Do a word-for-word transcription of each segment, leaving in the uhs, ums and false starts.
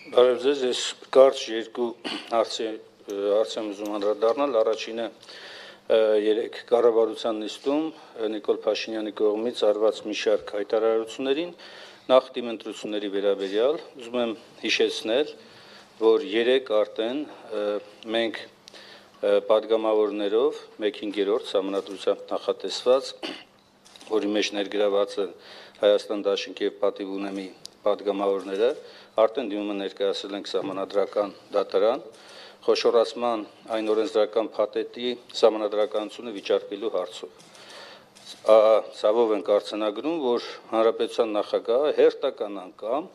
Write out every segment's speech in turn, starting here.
Բարև ձեզ, ես կարճ երկու հարցի եմ ուզում անդրադառնալ, առաջինը երեք կառավարության նիստում Նիկոլ Փաշինյանի կողմից արված մի շարք հայտարարություններին, նախ դիմընտրությունների վերաբերյալ, ուզում եմ հիշեցնել, որ երեք արդեն մենք պատգամավորներով մեկ հինգերորդ սահմանադրությամբ նախատեսված, որի մեջ ներգրաված է Հայաստան դաշինքի և պատիվ ունեմի պատգամավորները, արդեն դիմումը ներկայացրել ենք սահմանադրական դատարան, խոշորացման այն օրենսդրական փաթեթի սահմանադրականությունը վիճարկելու հարցով։ Ցավով ենք արձանագրում, որ Հանրապետության նախագահը հերթական անգամ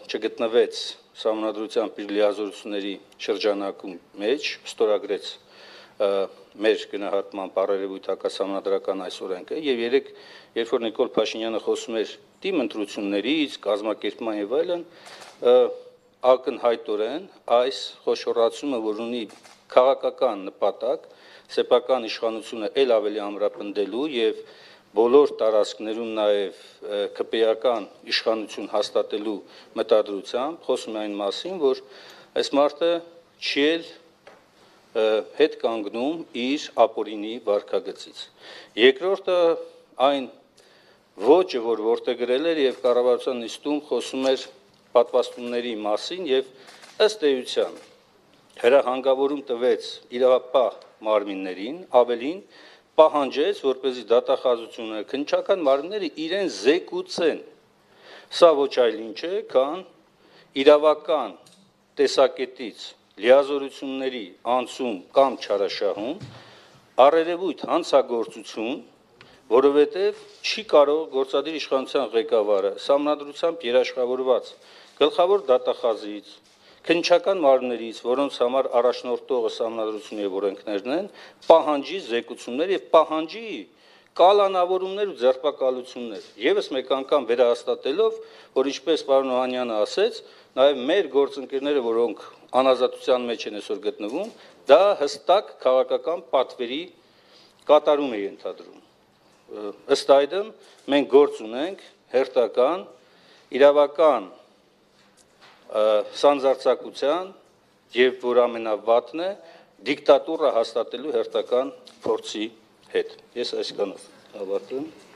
չգտնվեց սահմանադրությամբ իր լիազորությունների շրջանակում մեջ, ստորագրեց մեր գնահատման բարերևույթ հակասահմանադրական այս օրենքը, եւ երեք, երբ որ Նիկոլ Փաշինյանը խոսում էր դիմընտրություններից, կազմակերպման եւ այլն, ակնհայտորեն այս խոշորացումը, որ ունի քաղաքական նպատակ, սեփական իշխանությունը ել ավելի ամրապնդելու եւ բոլոր տարածքներում նաեւ քպեական իշխանություն հաստատելու մտադրությամբ, խոսում է այն մասին, որ այս մարդը չի էլ հետ կանգնում իր ապօրինի վարքագծից։ Երկրորդը այն ոճը, որ որտեղ գրել էր եւ կառավարության նիստում խոսում էր պատվաստումների մասին եւ ըստ էության հրահանգավորում տվեց իրավապահ մարմիններին, ավելին պահանջեց, որպեսզի դատախազությունը, քննչական մարմինները իրեն զեկուցեն։ Սա ոչ այլ ինչ է, քան իրավական տեսակետից լիազորությունների անցում կամ չարաշահում, առերևույթ հանցագործություն, որովհետև չի կարող գործադիր իշխանության ղեկավարը սահմանադրությամբ երաշխավորված գլխավոր դատախազից, քննչական մարմիններից, որոնց համար առաջնորդողը սահմանադրությունն եւ օրենքներն են, պահանջի զեկուցումներ եւ պահանջի կալանավորումներ ու ձերբակալություններ, եւս մեկ անգամ վերահաստատելով, որ ինչպես պարոն Օհանյանը ասեց, նաեւ մեր գործընկերները, որոնք անազատության մեջ են այսօր գտնվում, դա հստակ քաղաքական պատվերի կատարում է ենթադրում։ Ըստ այդմ մենք գործ ունենք հերթական իրավական սանձարձակության եւ որ ամենավատն է դիկտատուրա հաստատելու հերթական փորձի հետ։ Ես այսքանով ավարտում։